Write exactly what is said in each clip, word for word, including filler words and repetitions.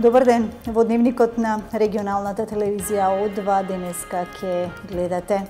Добар ден, во дневникот на регионалната телевизија О два денеска ќе гледате.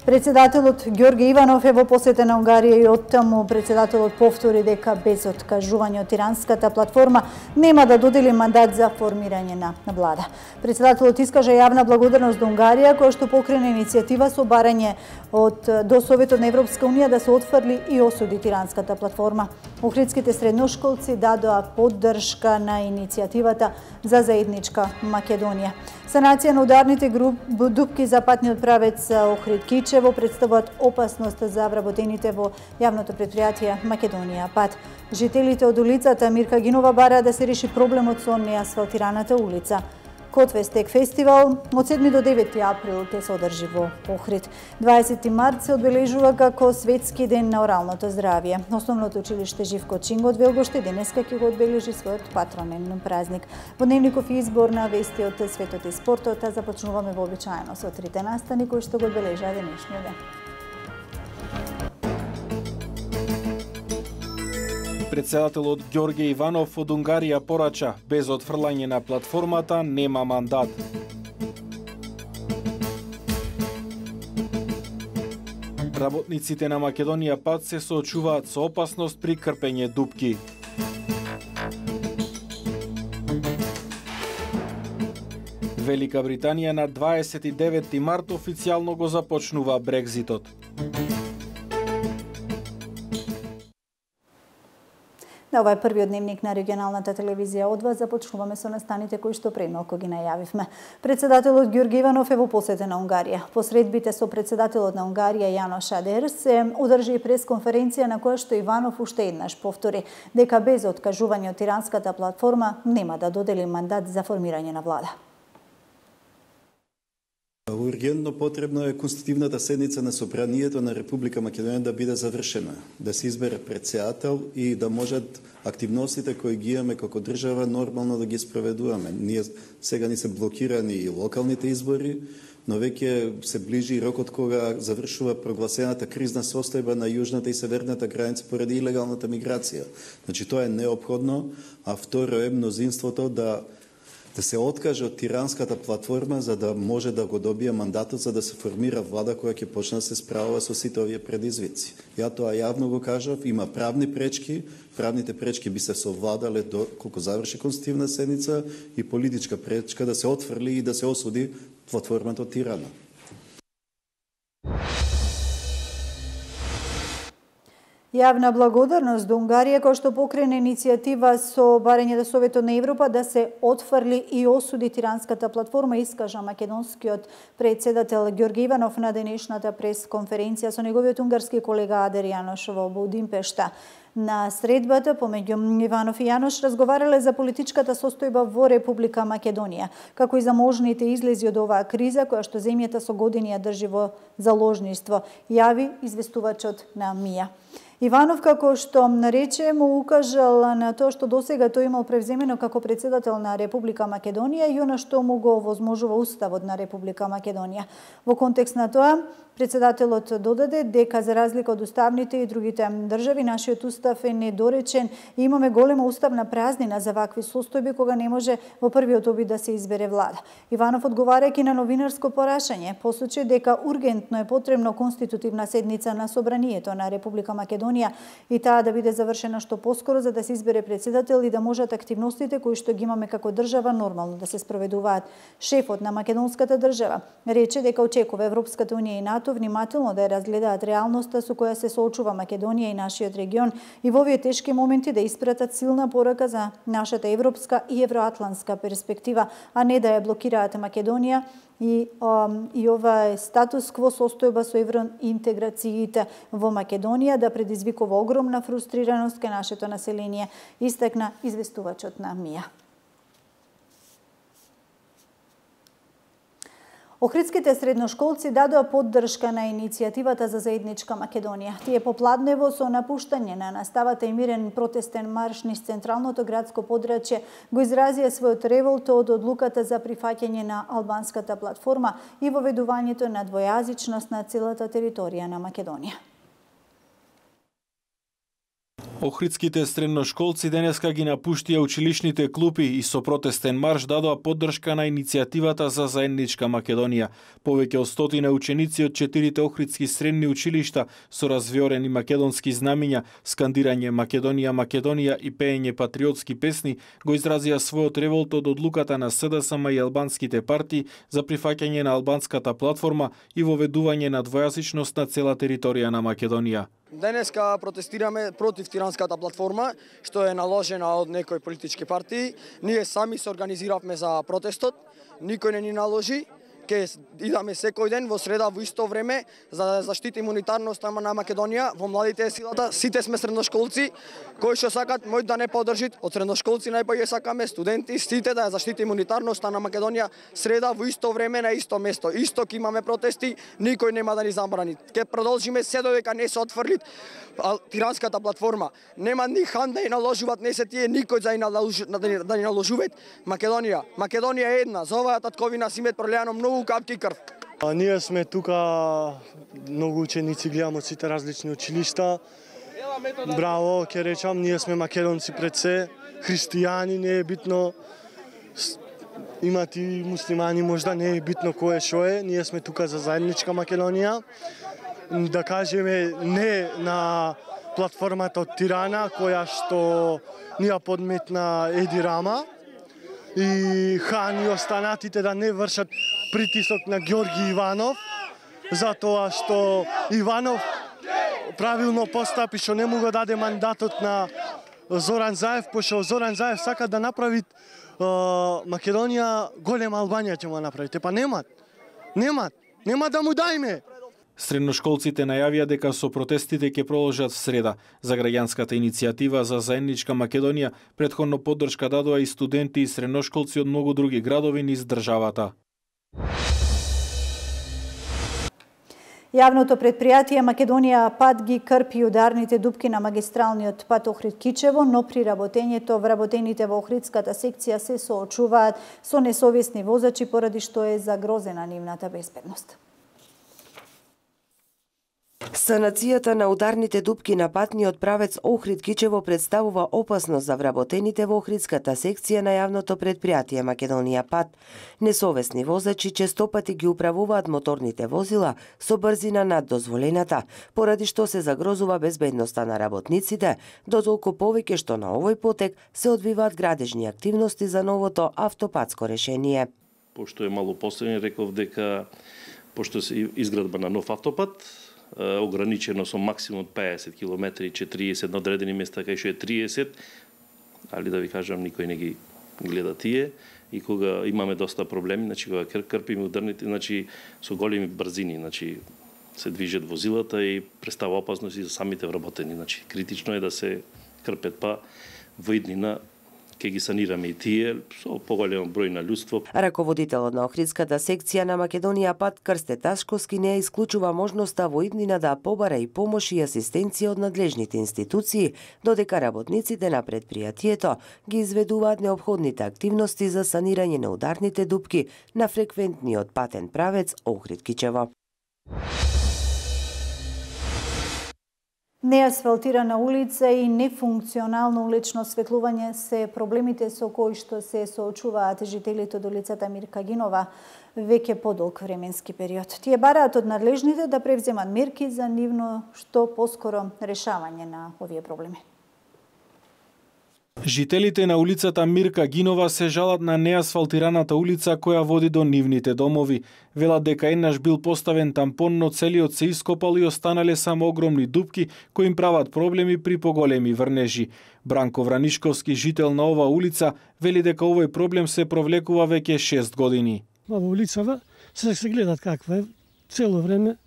Председателот Ѓорги Иванов е во посета на Унгарија и оттаму председателот повтори дека без откажување од тиранската платформа нема да додели мандат за формирање на влада. Председателот искажа јавна благодарност до Унгарија која што покрена иницијатива со барање од до Советот на Европска унија да се отфрли и осуди тиранската платформа. Охридските средношколци дадоа поддршка на иницијативата за заедничка Македонија. Санација на ударните дупки за патниот правец Охрид-Кичево представуваат опасност за вработените во јавното претпријатие Македонија Пат. Жителите од улицата Мирка Гинова бараат да се реши проблемот со неасфалтираната улица. Котвестек фестивал од седми до девети април ќе се одржи во Охрид. дваесети март се одбележува како Светски ден на оралното здравје. Основното училиште Живко Чинго од Велгоште денеска ќе го одбележи својот патронен празник. Во дневников избор на вести од светот и спортот, а започнуваме вообичаено со трите настани кои што го одбележаа денешниот ден. Председателот Ѓорги Иванов од Унгарија порача, без отфрлање на платформата нема мандат. Работниците на Македонија Пат се соочуваат со опасност при крпење дупки. Велика Британија на дваесет и девети март официјално го започнува Брекзитот. На ова е првиот дневник на регионалната телевизија О два. Започнуваме со настаните кои што пред малку ги најавивме. Председателот Ѓорги Иванов е во посета на Унгарија. По средбите со председателот на Унгарија Јанош Адер се одржи и пресконференција на која што Иванов уште еднаш повтори дека без откажување од тиранската платформа нема да додели мандат за формирање на влада. Ургентно потребно е конститутивната седница на Собранието на Република Македонија да биде завршена, да се избере председател и да можат активностите кои ги имаме како држава нормално да ги спроведуваме. Ние сега ни се блокирани и локалните избори, но веќе се ближи рокот кога завршува прогласената кризна состојба на јужната и северната граница поради илегалната миграција. Значи тоа е неопходно, а второ е мнозинството да да се откаже од тиранската платформа за да може да го добие мандатот за да се формира влада која ќе почне да се справува со сите овие предизвици. Ја тоа јавно го кажав, има правни пречки, правните пречки би се совладале доколку заврши конститутивна седница и политичка пречка да се отфрли и да се осуди платформата од Тирана. Јавна благодарност до Унгарија која што покрена иницијатива со барање до Советот на Европа да се отфрли и осуди тиранската платформа, искажа македонскиот председател Ѓорги Иванов на денешната пресконференција со неговиот унгарски колега Адер Јанош во Будимпешта. На средбата помеѓу Иванов и Јанош разговарале за политичката состојба во Република Македонија, како и за можните излези од оваа криза која што земјата со години ја држи во заложништво, јави известувачот на МИА. Иванов, како што нарече, му укажал на тоа што досега тој имал превземено како председател на Република Македонија и она што му го возможува Уставот на Република Македонија. Во контекст на тоа, председателот додаде дека за разлика од уставните и другите држави, нашиот устав е недоречен и имаме голема уставна празнина за вакви состојби кога не може во првиот обид да се избере влада. Иванов, одговарајќи на новинарско порашање, посочи дека ургентно е потребно конститутивна седница на Собранието на Република Македонија и таа да биде завршена што поскоро за да се избере председател и да можат активностите кои што ги имаме како држава нормално да се спроведуваат. Шефот на македонската држава рече дека очекува Европската унија и НАТО внимателно да ја разгледаат реалноста со која се соочува Македонија и нашиот регион и во овие тешки моменти да испратат силна порака за нашата европска и евроатлантска перспектива, а не да ја блокираат Македонија и, um, и ова е статус кво состојба со евроинтеграциите во Македонија да предизвикува огромна фрустрираност кај нашето население, истакна известувачот на МИА. Охридските средношколци дадоа поддршка на иницијативата за заедничка Македонија. Тие попладнево со напуштање на наставата и мирен протестен марш низ централното градско подрачје го изразија својот револт од одлуката за прифаќање на албанската платформа и воведувањето на двојазичност на целата територија на Македонија. Охридските средношколци денеска ги напуштија училишните клупи и со протестен марш дадоа поддршка на иницијативата за заедничка Македонија. Повеќе од стотина ученици од четирите охридски средни училишта со развиорени македонски знамиња, скандирање Македонија, Македонија и пеење патриотски песни го изразија својот револт од одлуката на СДСМ и албанските партии за прифаќање на албанската платформа и воведување на двојазичност на цела територија на Македонија. Денеска протестираме против тиранската платформа, што е наложена од некои политички партии. Ние сами се организиравме за протестот, никој не ни наложи. Ке идаме секој ден во среда во исто време за да заштитиме унитарноста на Македонија. Во младите е силата, сите сме средношколци кои што сакат мој да не поддржит. Од средношколци најпоје сакаме студенти, сите да ја заштитиме унитарноста на Македонија. Среда во исто време на исто место. Исток имаме протести, никој нема да ни забрани. Ке продолжиме се додека не се отфрли тиранската платформа. Нема ни хан да ја наложуваат, не се тие никој за да ни наложуваат Македонија. Македонија е една, за оваа татковина си имет пролеано многу капки крв. А ние сме тука, многу ученици гледам од сите различни училишта. Браво, ќе речам, ние сме македонци пред се, христијани, не е битно, имат и муслимани, можда не е битно кој е шо е, ние сме тука за заедничка Македонија. Да кажеме не на платформата од Тирана, која што ни ја подметна Еди Рама, и Хан и останатите да не вршат притисок на Ѓорги Иванов, затоа што Иванов правилно постапи што не му го даде мандатот на Зоран Заев, пошто Зоран Заев сака да направи Македонија голема Албанија ќе му направи. Па немат, немат, нема да му дајме. Средношколците најавија дека со протестите ќе продолжат в среда. За граѓанската иницијатива за заедничка Македонија претходно поддршка дадоа и студенти и средношколци од многу други градови низ државата. Јавното предпријатие Македонија Пат ги крпи ударните дупки на магистралниот пат Охрид-Кичево, но при работењето вработените во Охридската секција се соочуваат со несовесни возачи поради што е загрозена нивната безбедност. Санацијата на ударните дупки на патниот правец Охрид-Кичево представува опасност за вработените во Охридската секција на јавното предпријатие Македонија Пат. Несовесни возачи честопати ги управуваат моторните возила со брзина над дозволената, поради што се загрозува безбедноста на работниците, дотолку повеќе што на овој потек се одвиваат градежни активности за новото автопатско решение. Пошто е мало поставен, реков дека пошто се изградба на нов автопат, ограничено со максимум песет километри, четириесет на одредени места кај што е триесет, али да ви кажам, никој не ги гледа тие, и кога имаме доста проблеми, значи кога крпиме ударните, значи со големи брзини, значи се движат возилата и представа опасност и за самите вработени, значи критично е да се крпат, па во иднина ќе ги санираме и тие со поголем број на луѓство. Раководителот на Охридската секција на Македонија Пат Крсте Ташковски не исклучува можноста во иднина да побара и помош и асистенција од надлежните институции, додека работниците на предпријатието ги изведуваат неопходните активности за санирање на ударните дупки на фреквентниот патен правец Охрид-Кичево. Неасфалтирана улица и нефункционално улично осветлување се проблемите со кои што се соочуваат жителите од улицата Мирка Гинова веќе подолг временски период. Тие бараат од надлежните да превземат мерки за нивно што поскоро решавање на овие проблеми. Жителите на улицата Мирка Гинова се жалат на неасфалтираната улица која води до нивните домови. Велат дека еднаш бил поставен тампон, но целиот се ископал и останале само огромни дупки кои им прават проблеми при поголеми врнежи. Бранко Вранишковски, жител на ова улица, вели дека овој проблем се провлекува веќе шест години. Ова улицава се се гледат каква е цело време,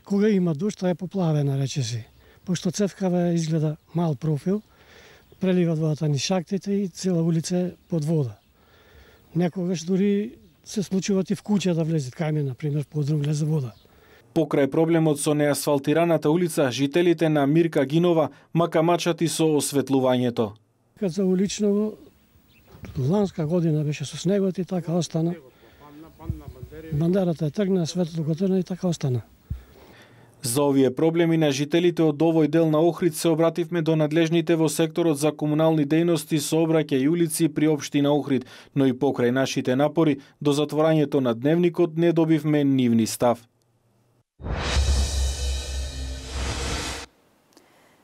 кога има дожд, е поплавена, речеси. Пошто цевкава изгледа мал профил, преливат водата ни шахтите и цела улица е под вода. Некогаш дури се случуваат и в куќа да влезет кај, например, подрум влезе вода. Покрај проблемот со неасфалтираната улица, жителите на Мирка Гинова макамачат и со осветлувањето. Кад за улично, ланска година беше со снегот и така остана. Бандерата е тргна, светлото го тргна и така остана. За овие проблеми на жителите од овој дел на Охрид се обративме до надлежните во секторот за комунални дејности, сообраќај и улици при општина Охрид, но и покрај нашите напори до затворањето на дневникот не добивме нивни став.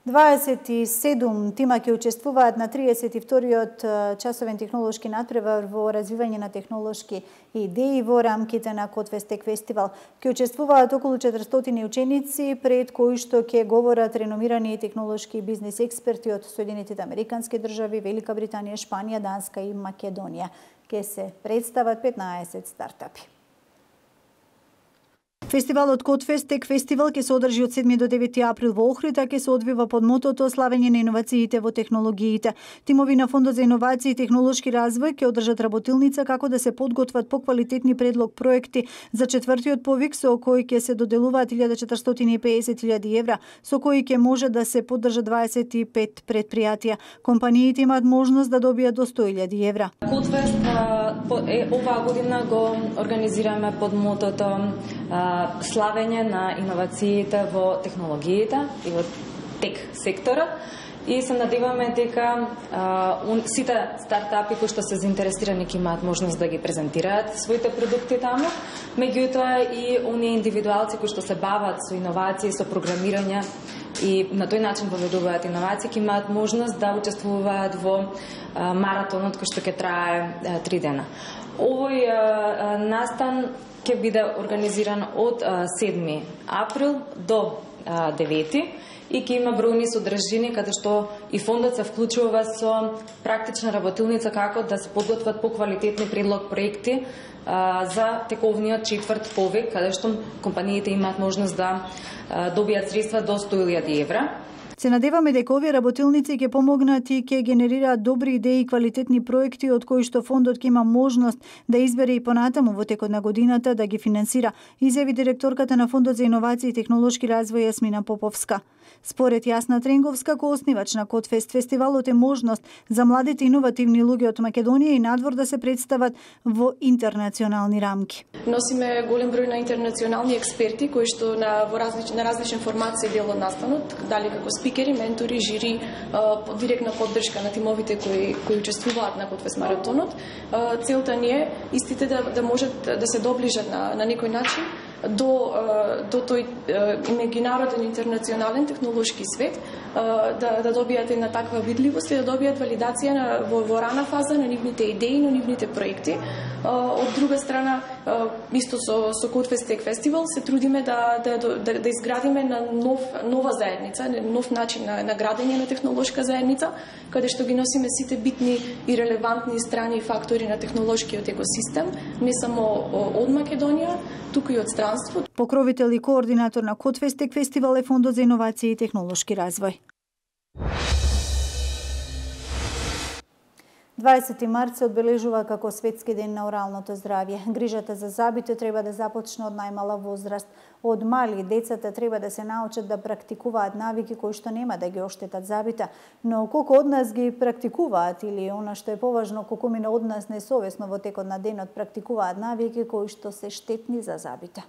дваесет и седум тима ќе учествуваат на триесет и вториот часовен технолошки надпревар во развивање на технолошки идеи во рамките на Котфестек фестивал. Ќе учествуваат околу четиристотини ученици, пред кои што ќе говорат реномирани технолошки и бизнис експерти од Соединетите Американски држави, Велика Британија, Шпанија, Данска и Македонија. Ќе се представат петнаесет стартапи. Фестивалот Котфестек фестивал ќе се одржи од седми до девети април во Охрид, а ќе се одвива под мотото славење на иновациите во технологиите. Тимови на Фондот за иновации и технолошки развој ќе одржат работилница како да се подготват поквалитетни предлог проекти за четвртиот повик со кој ќе се доделуваат илјада четиристотини и песет илјади евра, со кои ќе може да се поддржат дваесет и пет предпријатија. Компаниите имаат можност да добијат до сто илјади евра. Котфест оваа година го организираме под мотото славење на иновациите во технологиите и во тек сектора и се надеваме дека а, сите стартапи кои што се заинтересирани ќе имаат можност да ги презентираат своите продукти таму, меѓутоа и оние индивидуалци кои што се бават со иновации, со програмирање и на тој начин воведуваат иновации, ќе имаат можност да учествуваат во а, маратонот кој што ќе трае а, три дена. Овој а, настан ќе биде организиран од седми април до девети и ќе има бројни содржини каде што и фондот се вклучува со практична работилница како да се подготват поквалитетни предлог проекти за тековниот четврт повик, каде што компаниите имаат можност да добијат средства до сто илјади евра. Се надеваме дека овие работилници ќе помогнат и ќе генерираат добри идеи и квалитетни проекти од кои што фондот ќе има можност да избере и понатаму во текот на годината да ги финансира, изјави директорката на Фондот за иновации и технолошки развој Јасмина Поповска. Според Јасна Тренговска, кооснивач на Котфест, фестивалот е можност за младите иновативни луѓе од Македонија и надвор да се представат во интернационални рамки. Носиме голем број на интернационални експерти кои што на во различни на различен формат се дел од настанот, дали како спикери, ментори, жири, директна поддршка на тимовите кои кои учествуваат на Котфест маратонот. Целта ни е истите да да можат да се доближат на на некој начин до до тој меѓународен интернационален технолошки свет, да да добијат една таква видливост и да добијат валидација на во, во рана фаза на нивните идеи, на нивните проекти. Од друга страна, исто со со Котфестек фестивал се трудиме да да да, да изградиме на нов нова заедница, нов начин на, на градење на технолошка заедница, каде што ги носиме сите битни и релевантни страни и фактори на технолошкиот екосистем, не само од Македонија, туку и од странство. Покровител и координатор на Котфестек фестивал е Фондот за иновации и технолошки развој. дваесети март се одбележува како Светски ден на оралното здравје. Грижата за забите треба да започне од најмала возраст. Од мали децата треба да се научат да практикуваат навики кои што нема да ги оштетат забите, но колку од нас ги практикуваат или она што е поважно, колку мина од нас несовесно во текот на денот практикуваат навики кои што се штетни за забите.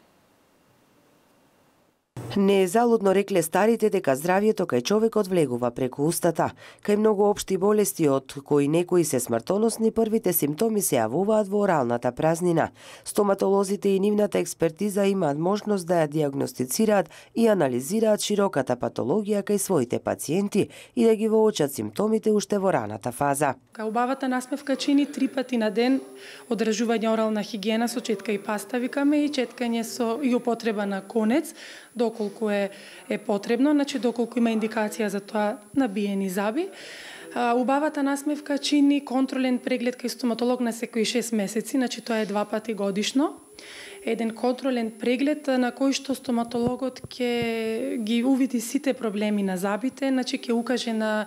Не е залудно рекле старите дека здравјето кај човекот влегува преку устата. Кај многу општи болести од кои некои се смртоносни, првите симптоми се јавуваат во оралната празнина. Стоматолозите и нивната експертиза имаат можност да ја диагностицираат и анализираат широката патологија кај своите пациенти и да ги воочат симптомите уште во раната фаза. Кај убавата насмевка чини три пати на ден одржување орална хигиена со четка и паста, викаме, и четкање со и употреба на конец, доколку е, е потребно, значи доколку има индикација за тоа набиени заби. А, убавата насмевка чини контролен преглед кај стоматолог на секои шест месеци, значи тоа е два пати годишно. Еден контролен преглед на кој што стоматологот ќе ги увиди сите проблеми на забите, значи ќе укаже на,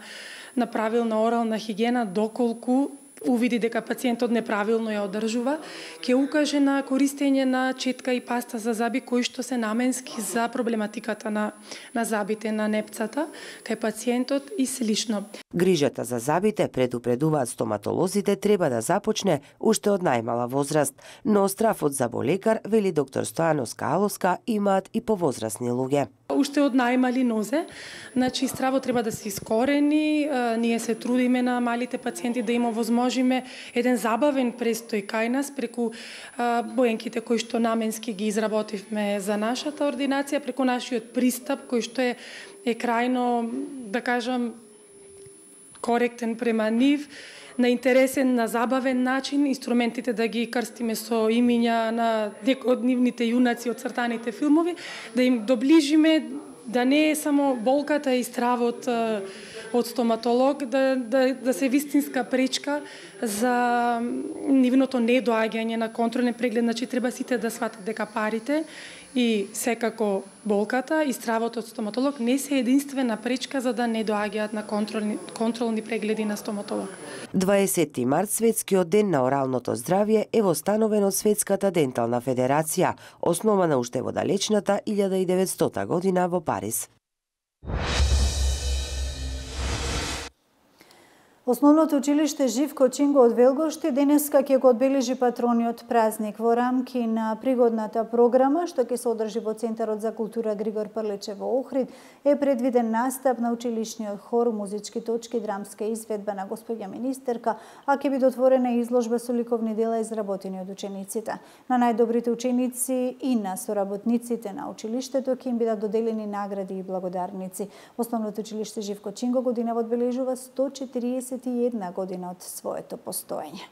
на правилна орална хигиена доколку увиди дека пациентот неправилно ја одржува, ќе укаже на користење на четка и паста за заби кои што се наменски за проблематиката на на забите, на непцата, кај пациентот и слично. Грижата за забите, предупредуваат стоматолозите, треба да започне уште од најмала возраст, но страфот за болекар, вели доктор Стојановска Аловска, имаат и повозрасни луѓе. Уште од најмали нозе, значи стравот треба да се искорени, ние се трудиме на малите пациенти да им овозможиме еден забавен престој кај нас преку боенките кои што наменски ги изработивме за нашата ординација, преку нашиот пристап кој што е, е крајно, да кажам, коректен према нив, на интересен, на забавен начин, инструментите да ги крстиме со имиња на некои од нивните јунаци од цртаните филмови, да им доближиме да не е само болката и стравот од стоматолог, да, да, да се вистинска пречка за нивното недоаѓање на контролен преглед. Значи, треба сите да сватат дека парите и секако болката и стравот од стоматолог не се единствена пречка за да не доаѓаат на контролни, контролни прегледи на стоматолог. дваесети март, светскиот ден на оралното здравје, е востановен од Светската дентална федерација, основана уште во далечната илјада и деветстота година во Париз. Основното училиште Живко Чинго од Велгошти денеска ќе го одбележи патрониот празник во рамки на пригодната програма што ќе се одржи во Центарот за култура Григор Прлече во Охрид. Е предвиден настап на училишниот хор, музички точки, драмска изведба на господја министерка, а ќе биде отворена изложба со ликовни дела изработени од учениците. На најдобрите ученици и на соработниците на училиштето ќе им бидат доделени награди и благодарници. Основното училиште Живко Чинго годинава одбележува сто четириесет и една година од своето постоење.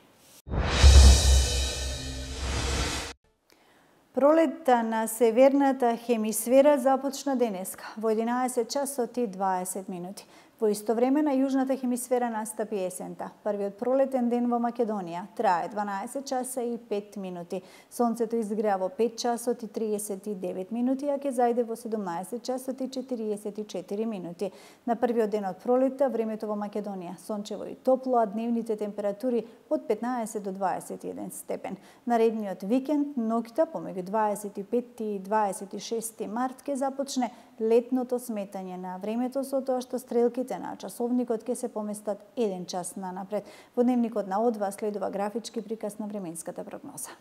Пролетта на северната хемисфера започна денеска во единаесет часот и дваесет минути. Во исто време на јужната хемисфера настапи есента. Првиот пролетен ден во Македонија трае дванаесет часа и пет минути. Сонцето изгреа во пет часот и триесет и девет минути, а ќе зајде во седумнаесет часот и четириесет и четири минути. На првиот ден од пролетта времето во Македонија сончево и топло, а дневните температури од петнаесет до дваесет и еден степен. Наредниот викенд, ноќта помеѓу дваесет и пети и дваесет и шести март ќе започне летното сметање на времето, со тоа што стрелките на часовникот ќе се поместат еден час нанапред. Во дневникот на О два следува графички приказ на временската прогноза.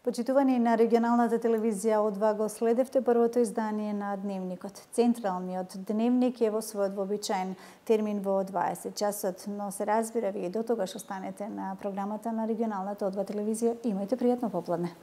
Почитувани на регионалната телевизија О два го следевте првото издание на Дневникот. Централниот Дневник е во својот вообичаен термин во дваесет часот, но се разбира вие до тогаш останете на програмата на регионалната О два телевизија. Имајте пријатно попладне.